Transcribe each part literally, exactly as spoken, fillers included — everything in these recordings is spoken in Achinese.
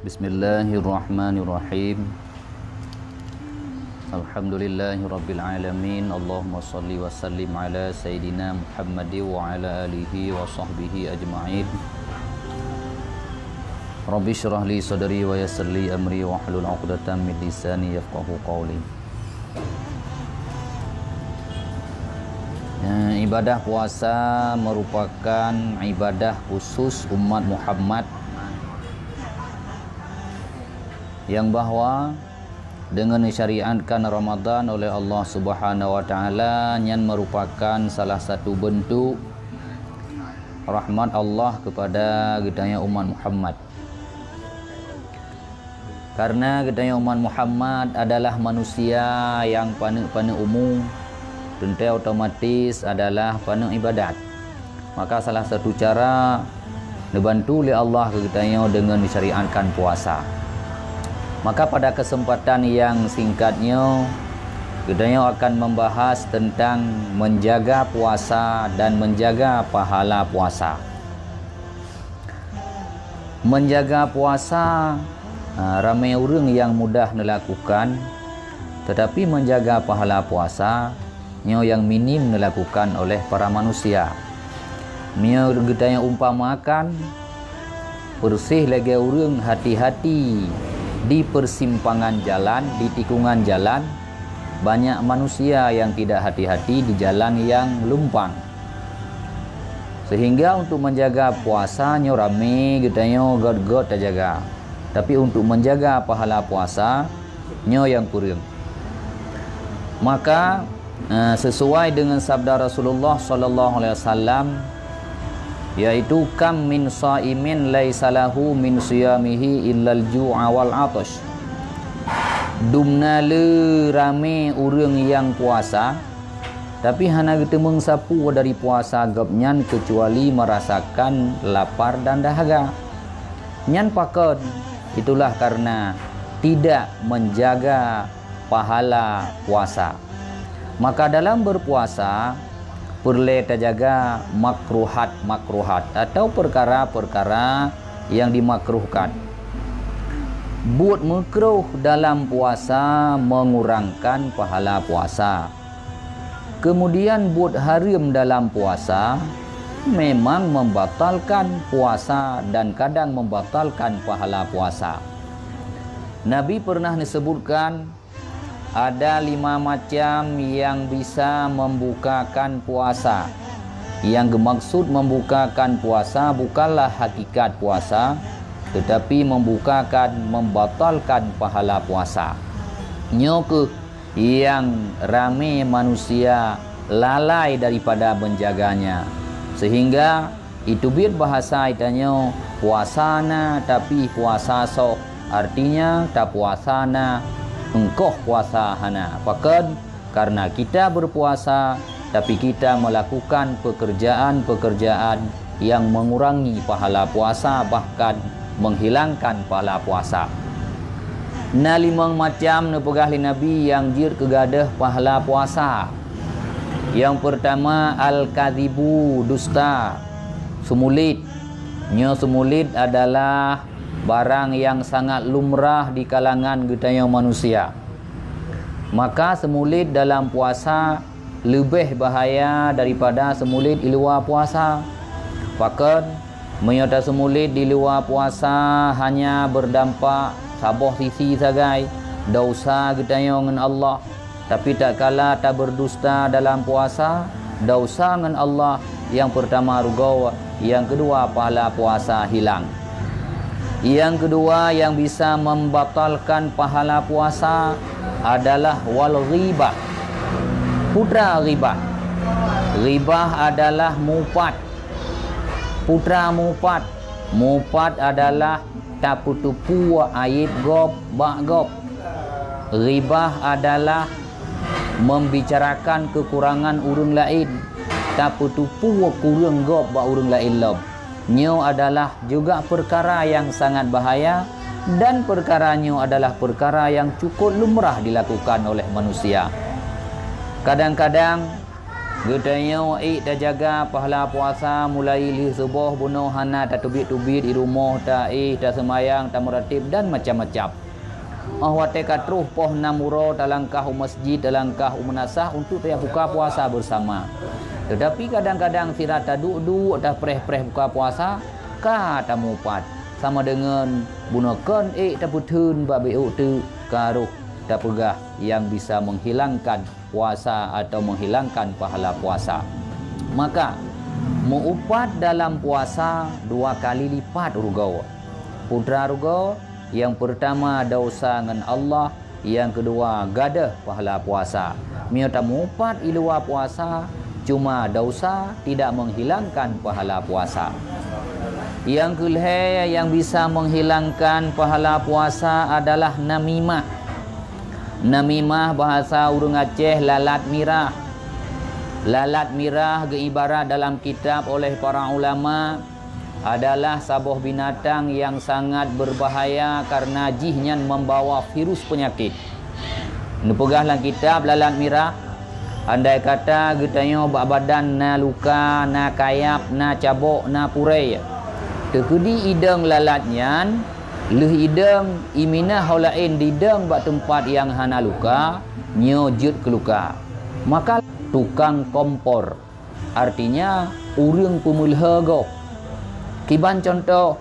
Bismillahirrahmanirrahim. Alhamdulillahirabbil alamin. Allahumma shalli wa sallim ala sayyidina Muhammad wa ala alihi wa sahbihi ajma'in. Rabbi shrah li sadri wa yassir li amri wahlul 'uqdatam min lisani yafqahu qawli. Eh, ibadah puasa merupakan ibadah khusus umat Muhammad, yang bahwa dengan disyariatkan Ramadan oleh Allah Subhanahu wa Taala, nyan merupakan salah satu bentuk rahmat Allah kepada geutanyoe umat Muhammad. Karena geutanyoe umat Muhammad adalah manusia yang paneuk-paneuk umu, teuntée otomatis adalah paneuk ibadat. Maka salah satu cara neubantu lé Allah keu geutanyoe deungon disyariatkan puasa. Maka pada kesempatan yang singkat nyoe, geutanyoe akan membahas tentang menjaga puasa dan menjaga pahala puasa. Menjaga puasa, ha, ramé ureuëng yang mudah neulakukan, tetapi menjaga pahala puasa nyoe yang minim neulakukan oleh para manusia. Meunyoe geutanyoe umpamakan, persis lagée ureuëng hati-hati di persimpangan jalan, di tikungan jalan, banyak manusia yang tidak hati-hati di jalan yang lumpang. Sehingga untuk menjaga puasa nyoe ramé geutanyoe göt-göt tajaga. Tapi untuk menjaga pahala puasa nyoe nyang kureueng. Maka, eh, sesuai dengan sabda Rasulullah sallallahu alaihi wasallam, yaitu, "Kam min shaimin laisa lahu min shiyamihi illal ju'a wal 'athasy." Dumna le ramé ureuëng nyang puasa, tapi hana geuteumeung sapeue dari puasa gobnyan keucuali merasakan lapar dan dahaga. Nyan pakon? Itulah karena tidak menjaga pahala puasa. Maka dalam berpuasa, peureulée tajaga makruhat-makruhat atau perkara-perkara yang dimakruhkan. Buet meukruh dalam puasa mengurangkan pahala puasa. Kemudian buet hareuem dalam puasa memang membatalkan puasa dan kadang membatalkan pahala puasa. Nabi pernah disebutkan ada lima macam yang bisa membukakan puasa. Yang geumaksud membukakan puasa bukanlah hakikat puasa, tetapi membukakan, membatalkan pahala puasa. Nyoe keuh yang ramé manusia lalai daripada menjaganya, sehingga iteubiet bahasa itanyoe puasa na tapi puasa soh, artinya tapuasa na, eungkoh puasa hana. Pakon? Karena kita berpuasa, tapi kita melakukan pekerjaan-pekerjaan yang mengurangi pahala puasa, bahkan menghilangkan pahala puasa. Na limong macam neupeugah lé Nabi nyang jeuet keu gadôh pahala puasa. Nyang peurtama, al-kadzibu, dusta, seumulit. Nyoe seumulit adalah barang nyang sangat lumrah di kalangan geutanyoe manusia. Maka seumulit dalam puasa leubeh bahaya daripada seumulit di luwa puasa. Pakon? Meunyoe taseumulit di luwa puasa hanya beurdampak saboh sisi sagai, desya geutanyoe ngon Allah, tapi tatkala tabeurdusta dalam puasa, desya ngon Allah nyang peurtama rugoe, nyang keudua pahala puasa hilang. Nyang keudua nyang bisa membatalkan pahala puasa adalah wal ghibah. Peue teuma ghibah? Ghibah adalah mupat. Peue teuma mupat? Mupat adalah tapeutupeue aéb gob bak gob. Ghibah adalah membicarakan kekurangan ureuëng laén, tapeutupeue kureueng gob bak ureuëng laén lom. Nyoe adalah juga peukara nyang sangat bahaya, dan peukara nyoe adalah peukara nyang cukôp lumrah dilakukan oleh manusia. Kadang-kadang Geutanyoe ék tajaga pahala puasa mulai lheueh suboh bunoe hana tateubiet-teubiet di rumoh, taéh, taseumayang, tameuratéb dan macam-macam. Óh watée ka troh poh nam uroe talangkah u masjid, talangkah u meunasah untuk tabuka puasa beusama. Teutapi kadang-kadang sira taduek-duek tapreh-preh buka puasa, ka tamupat. Sama deungon bunoe kon ék tapeutheun bak beuôk teuk ka rhoh tapeugah nyang bisa menghilangkan puasa atau menghilangkan pahala puasa. Maka, meuupat dalam puasa dua kali lipat rugoe. Putra rugoe, nyang peurtama desya ngon Allah, nyang keudua gadôh pahala puasa. Meunyoe tamupat i luwa puasa, cuma desya tidak menghilangkan pahala puasa. Nyang keulhée nyang bisa menghilangkan pahala puasa adalah namimah. Namimah bahasa ureuëng Aceh lalat mirah. Lalat mirah geuibarat dalam kitab oleh para ulama adalah saboh binatang nyang sangat beubahaya kareuna jih nyan membawa virus peunyakét. Neupeugah lam kitab lalat mirah, andai kata geutanyoe bak badan na luka, na kayab, na cabok, na purée, teukeudi idong lalat nyan, lheueh idong iminah ho laén didong bak teumpat nyang hana luka, nyoe jeuet keu luka. Maka tukang kompor, artinya ureuëng peumeulhö gob. Kiban cuntoh,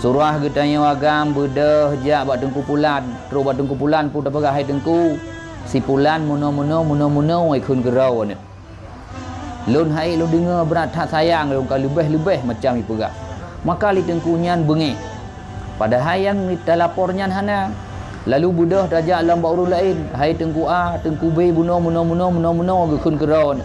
surah geutanyoe agam beudôh jak bak Teungku Pulan, troh bak Teungku Pulan peue tapeugah, "Hai Teungku, si Pulan meunoe-meunoe, meunoe-meunoe ikheun keudroe nyoe." Lôn hai lôn deungoe brat that sayang lôn ka leubeh-leubeh macam ipeugah. Maka lé teungku nyan beungéh. Padahai nyang talapor nyan hana. Lalu beudôh tajak lom bak ureuëng laén, "Hai Teungku A, Teungku B, bunoe meunoe-meunoe, meunoe-meunoe geukheun keudroe."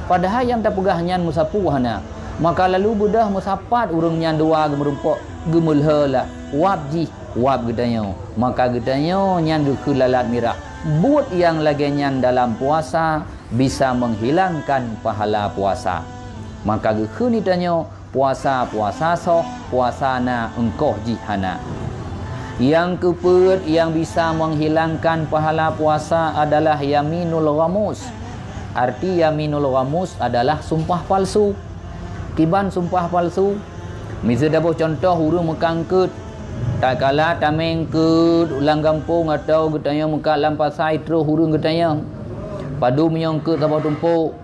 Padahai nyang tapeugah nyan meusapeue hana. Maka lalu beudôh meusapat ureuëng nyan dua geumeurumpok, geumeulheulah, "Wab jih, wab geutanyoe." Maka geutanyoe nyan geukheun lalat mirah. Buet nyang lagée nyan dalam puasa, bisa menghilangkan pahala puasa. Maka geukheun geutanyoe puasa, puasa soh, puasa na eungkoh jih hana. Nyang keupeuet nyang bisa menghilangkan pahala puasa adalah yaminul ghamus. Arti yaminul ghamus adalah sumpah palsu. Kiban sumpah palsu? Miseue daboh cuntoh ureuëng meuka eungkôt. Tatkala tamé eungkôt lam gampông atawa geutanyoe meuka lam pasai troh ureuëng geutanyoe. Padub meunyoe eungkôt saboh tumpôk,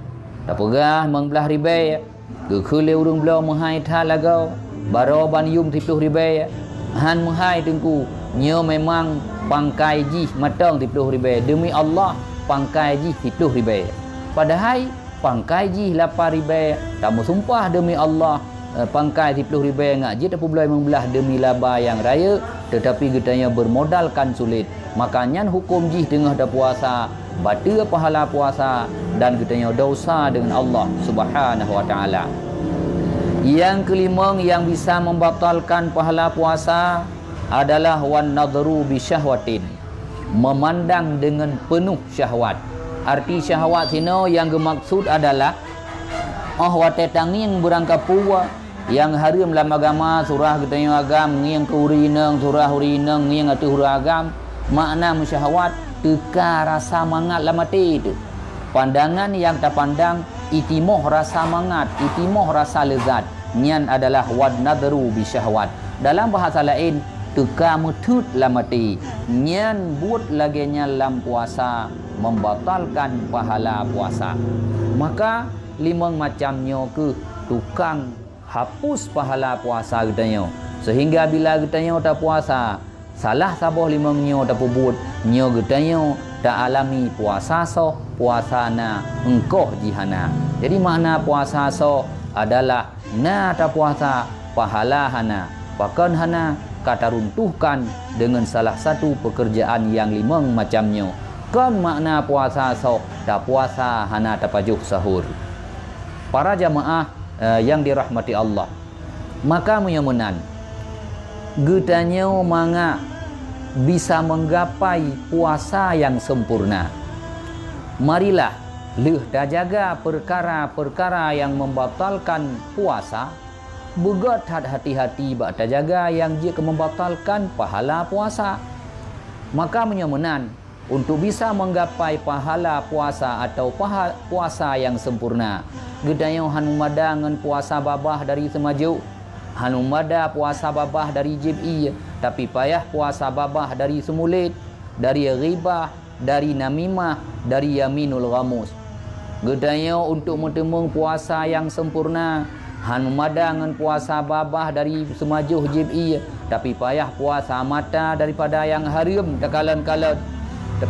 tapeugah limong blaih ribée, geukheun lé ureuëng bloe meuhai that lagoe, baroe ban yum siploh ribée. Han meuhai Teungku, nyoe memang pangkai jih mantong siploh ribée. Deumi Allah, pangkai jih siploh ribée. Padahai pangkai jih lapan ribée, tameusumpah deumi Allah, eh, pangkai siploh ribée ngat jeuet tapeubloe limong blaih deumi laba nyang rayeuk, teutapi geutanyoe beurmodalkan sulet. Maka nyan huköm jih teungoh tapuasa, bateue pahala puasa, dan geutanyoe desya deungon Allah Subhanahu wa Taala. Nyang keulimong nyang bisa membatalkan pahala puasa adalah wan nadhru bi syahwatin. Meumandang deungon peunoh syahwat. Arti syahwat sinoe nyang geumaksud adalah, óh watée tangieng beurangkapeue nyang hareuem lam agama, surah geutanyoe agam, ngieng keu ureuëng inong, surah ureuëng inong, ngieng ateueh ureuëng agam, makna meusyahwat, teuka rasa mangat lam até teuh. Pandangan nyang tapandang, itimoh rasa mangat, itimoh rasa leuzat, nyan adalah wan nadhru bi syahwat. Dalam bahasa laén, teuka meuteut lam até. Nyan buet lagée nyan lam puasa, membatalkan pahala puasa. Maka, limong macam nyoe kheueh tukang hapus pahala puasa geutanyoe. Seuhingga bila geutanyoe tapuasa, salah saboh limong nyoe tapeubuet, nyoe geutanyoe taalami puasa soh, puasa na, eungkoh jih hana. Jadi, makna puasa soh adalah na tapuasa, pahala hana. Pakon hana? Ka taruntuhkan deungon salah satu peukeurjaan nyang limong macam nyoe. Kon makna puasa soh, tapuasa hana tapajoh sahur. Para jamaah, eh, nyang dirahmati Allah. Maka meunyoe meunan, geutanyoe mangat bisa menggapai puasa nyang sempurna. Marilah lheueh tajaga peukara-peukara nyang membatalkan puasa, beugét that hati-hati bak tajaga nyang jeuet keu membatalkan pahala puasa. Maka meunyoe meunan, untuk bisa menggapai pahala puasa atau paha-, puasa yang sempurna. Geutanyoe han meumada ngon puasa babah dari seumajoh, han meumada puasa babah dari jieb ié, tapi payah puasa babah dari seumulét, dari ghibah, dari namimah, dari yaminul ghamus. Geutanyoe untuk meuteumeung puasa nyang sempurna, han meumada ngon puasa babah dari seumajoh jieb ié, tapi payah puasa mata daripada nyang hareuem takalon-kalon,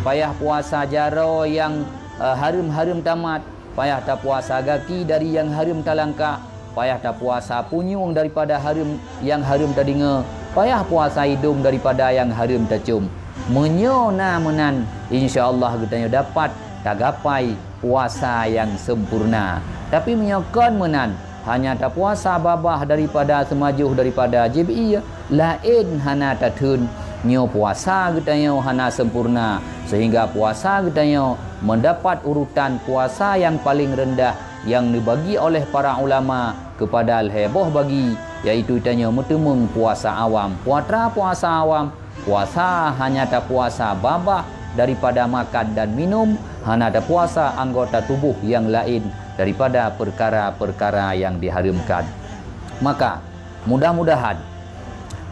payah puasa jaroe nyang, eh, hareuem-hareuem tamat, payah tapuasa gaki dari nyang hareuem talangkah, payah tapuasa punyueng daripada hareuem nyang hareuem tadeungoe, payah puasa idông daripada nyang hareuem tacôm. Meunyoe na meunan, insya Allah geutanyoe dapat tagapai puasa nyang sempurna. Tapi meunyoe kon meunan, hanya tapuasa babah daripada seumajoh daripada jieb ié, laén hana tatheun, nyoe puasa geutanyoe hana sempurna, sehingga puasa geutanyoe mendapat urutan puasa nyang paleng reundah nyang neubagi oleh para ulama keupada lhèe boh bagi, yaitu tanyoe meuteumeung puasa awam. Peue atra puasa awam? Puasa hanya tapuasa babah daripada makan dan minum, hana tapuasa anggota tuboh nyang laén daripada peukara-peukara nyang dihareuemkan. Maka, mudah-mudahan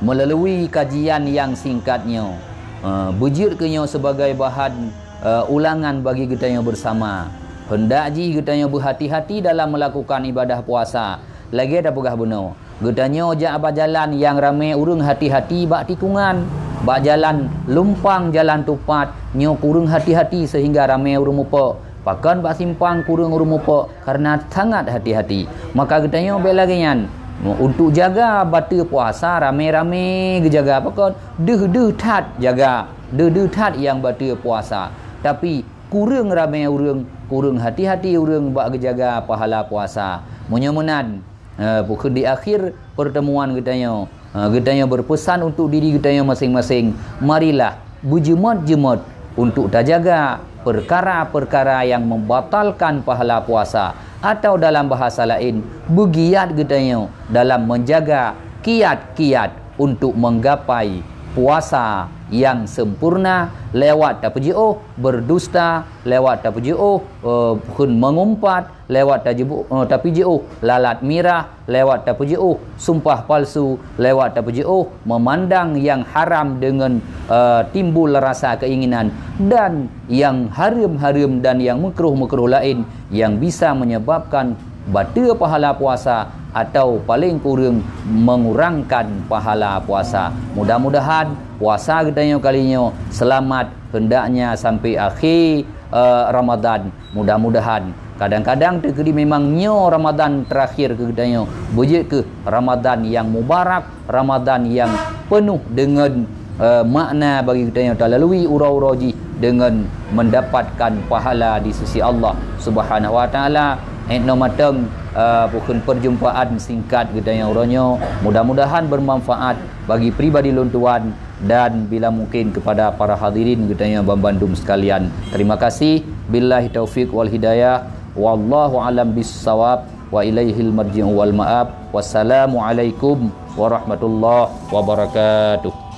meulalu kajian nyang singkat nyoe, eh, beujeuet keu nyoe sibagai bahan, eh, ulangan bagi geutanyoe beusama. Heundak jih geutanyoe beuhati-hati dalam meulakukan ibadah puasa. Lagèe tapeugah bunoe, geutanyoe jak bak jalan nyang ramè ureueng hati-hati bak tikungan, bak jalan lumpang, jalan tupat, nyoe kureueng hati-hati seuhingga ramè ureueng mupok. Pakon bak simpang kureueng ureueng mupok? Kareuna sangat hati-hati. Maka geutanyoe bèk lagèe nyan. Untuk jaga bateue puasa ramè-ramè geujaga. Pakon? Deuh-deuh that jaga. Deuh-deuh that nyang bateue puasa. Tapi, kureueng ramè ureueng, kureueng hati-hati ureueng bak geujaga pahala puasa. Meunyoe meunan, eh, bukon di akhir pertemuan geutanyoe, eh, geutanyoe beupeusan untuk diri geutanyoe maséng-maséng, marilah beujeumat-jeumat untuk tajaga peukara-peukara nyang membatalkan pahala puasa, atau dalam bahasa laén, beugiat geutanyoe dalam menjaga kiat-kiat untuk menggapai puasa nyang sempurna lewat tapeujiôh berdusta, lewat tapeujiôh, eh, bukon meungumpat, lewat tajibu-, eh, tapeujiôh lalat mirah, lewat tapeujiôh sumpah palsu, lewat tapeujiôh memandang nyang haram deungon, eh, timbul rasa keinginan, dan nyang hareuem-hareuem dan nyang meukruh-meukruh laén nyang bisa menyebabkan bateue pahala puasa atau paleng kureueng mengurangkan pahala puasa. Mudah-mudahan puasa geutanyoe kali nyoe seulamat, heundaknya sampai akhé, eh, Ramadan. Mudah-mudahan. Kadang-kadang teukeudi memang nyoe Ramadan terakhir keu geutanyoe. Beujeuet keuh Ramadan nyang mubarak, Ramadan nyang peunoh deungon, eh, makna bagi geutanyoe talalui uroe-uroe jih deungon mendapatkan pahala di sisi Allah Subhanahu wa Taala. Ék noe mantong, eh, bukon perjumpaan singkat geutanyoe uroe nyoe. Mudah-mudahan bermanfaat bagi pribadi lôn tuan dan bila mungkin kepada para hadirin geutanyoe banmandum sekalian. Terima kasih. Billahi taufik wal hidayah. Wallahu alam bissawab. Wa ilaihil marji'u wal ma'ab. Wassalamualaikum warahmatullahi wabarakatuh.